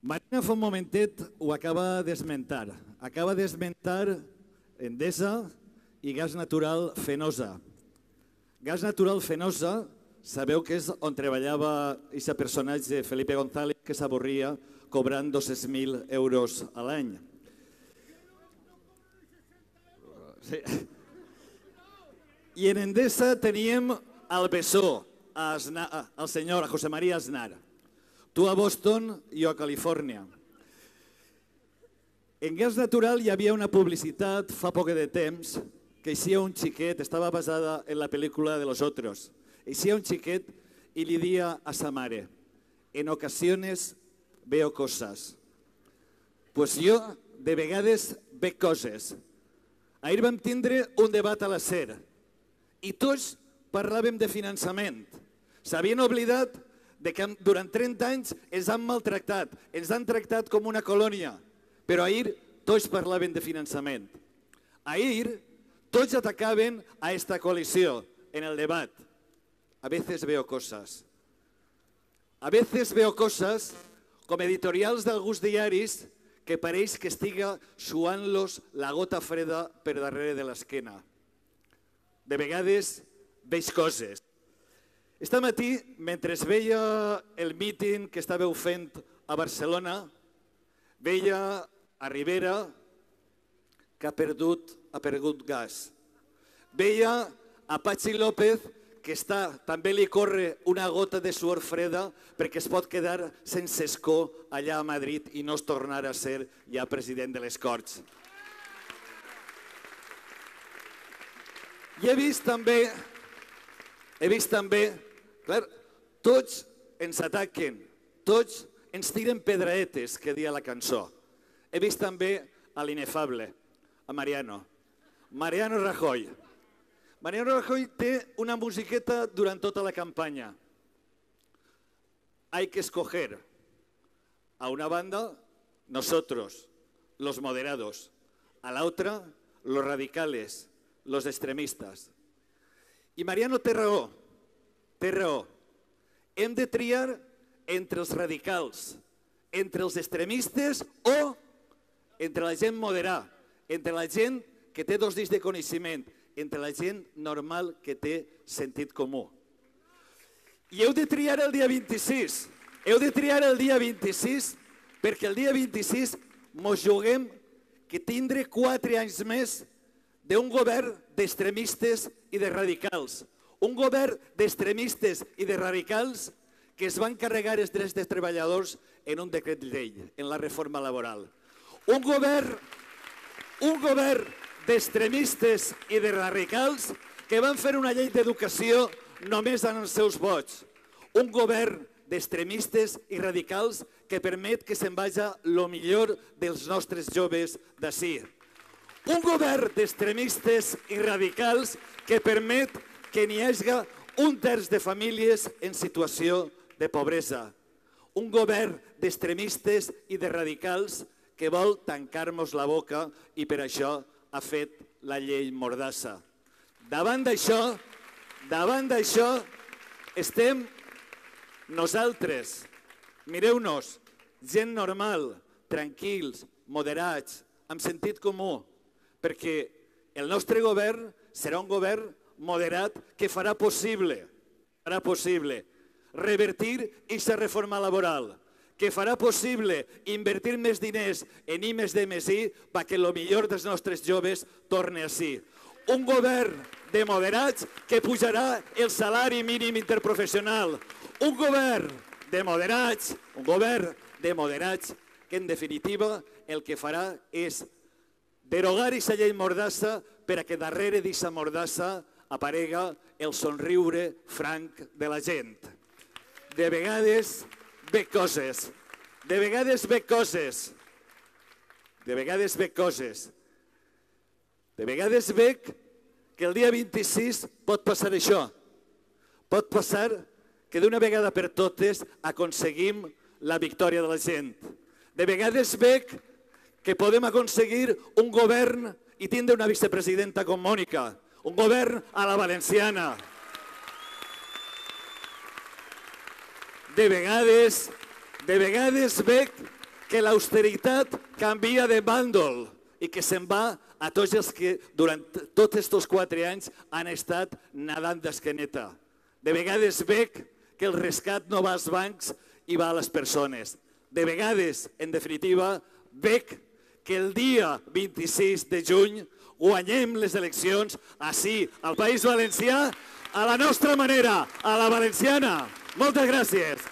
Marina fa un momentet ho acaba d'esmentar. Acaba d'esmentar Endesa i gas natural Fenosa. Gas natural Fenosa, sabeu que és on treballava aquest personatge Felipe González que s'avorria cobrant 200.000 euros a l'any. Sí. I en Endesa teníem el Besó, el senyor José María Aznar. Tu a Boston, jo a Califòrnia. En gas natural hi havia una publicitat fa poc de temps que eixia un xiquet, estava basada en la pel·lícula de Los Otros. Eixia un xiquet i li dia a sa mare: en ocasiones veo cosas. Pues jo de vegades veig coses. Ahir vam tindre un debat a la SER i tots parlàvem de finançament. S'havien oblidat que durant 30 anys ens han maltractat, ens han tractat com una colònia, però ahir tots parlaven de finançament. Ahir tots atacaven a esta coalició en el debat. A veces veo cosas. A veces veo cosas com editorials d'alguns diaris que pareix que estiga suant-los la gota freda per darrere de l'esquena. De vegades veig coses. Este matí, mentre veia el míting que estàveu fent a Barcelona, veia a Rivera que ha perdut gas. Veia a Patxi López que també li corre una gota de suor freda perquè es pot quedar sense escó allà a Madrid i no es tornarà a ser ja president de les Corts. I he vist també, clar, tots ens ataquen, tots ens tiren pedraetes, que dia la cançó. He vist també a l'inefable, a Mariano Rajoy. Mariano Rajoy té una musiqueta durant tota la campanya. Hay que escoger. A una banda, nosotros, los moderados. A la otra, los radicales, los extremistas. I Mariano té raó. Hem de triar entre els radicals, entre els extremistes o entre la gent moderada, entre la gent que té 2 dits de coneixement, entre la gent normal que té sentit comú. I heu de triar el dia 26. Heu de triar el dia 26 perquè el dia 26 mos juguem que tindre 4 anys més d'un govern d'extremistes i de radicals. Un govern d'extremistes i de radicals que es van carregar els drets dels treballadors en un decret llei, en la reforma laboral. Un govern d'extremistes i de radicals que van fer una llei d'educació només en els seus vots. Un govern d'extremistes i radicals que permet que se'n vagi el millor dels nostres joves d'ací. Un govern d'extremistes i radicals que permet que n'hi hagi 1/3 de famílies en situació de pobresa. Un govern d'extremistes i de radicals que vol tancar-nos la boca i per això ha fet la llei Mordassa. Davant d'això estem nosaltres. Mireu-nos, gent normal, tranquils, moderats, amb sentit comú, perquè el nostre govern serà un govern moderat que farà possible revertir aquesta reforma laboral, que farà possible invertir més diners en I+D+I perquè el millor dels nostres joves torni ací. Un govern de moderats que pujarà el salari mínim interprofessional. Un govern de moderats que en definitiva el que farà és derogar aquesta llei Mordassa per a que darrere d'aquesta Mordassa aparega el somriure franc de la gent. De vegades veig coses. De vegades veig que el dia 26 pot passar això. Pot passar que d'una vegada per totes aconseguim la victòria de la gent. De vegades veig que podem aconseguir un govern i tindre una vicepresidenta com Mònica. Un govern a la valenciana. De vegades veig que l'austeritat canvia de bàndol i que se'n va a tots els que durant tots aquests 4 anys han estat nadant d'esqueneta. De vegades veig que el rescat no va als bancs i va a les persones. De vegades, en definitiva, veig que el dia 26 de juny guanyem les eleccions ací, al País Valencià, a la nostra manera, a la valenciana. Moltes gràcies.